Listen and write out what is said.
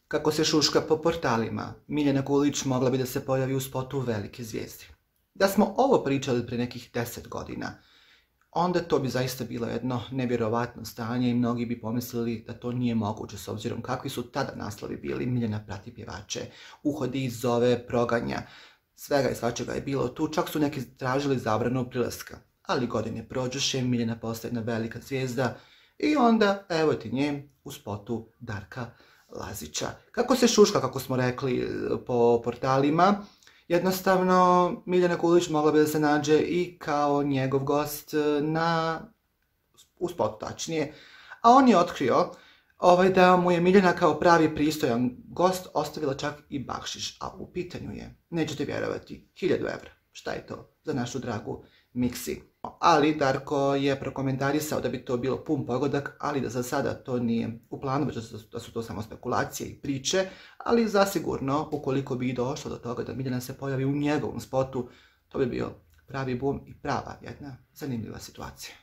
Kako se šuška po portalima, Miljana Kulić mogla bi da se pojavi u spotu velike zvijezde. Da smo ovo pričali pre nekih 10 godina, onda to bi zaista bilo jedno nevjerovatno stanje i mnogi bi pomislili da to nije moguće s obzirom kakvi su tada naslovi bili. Miljana prati pjevače, uhodi, zove, proganja, svega i svačega je bilo tu, čak su neki tražili zabranu prilaska. Ali godine prođoše, Miljana postaje jedna velika zvijezda i onda evo ti nje u spotu Darka Lazića. Kako se šuška, kako smo rekli po portalima, jednostavno Miljana Kulić mogla bi da se nađe i kao njegov gost u spotu tačnije, a on je otkrio da mu je Miljana kao pravi pristojan gost ostavila čak i bakšiš, a u pitanju je, nećete vjerovati, 1000 evra. Šta je to za našu dragu Miksi? Ali Darko je prokomentarisao da bi to bilo pun pogodak, ali da za sada to nije u planu, već da su to samo spekulacije i priče, ali zasigurno, ukoliko bi došlo do toga da Miljana se pojavi u njegovom spotu, to bi bio pravi bum i prava jedna zanimljiva situacija.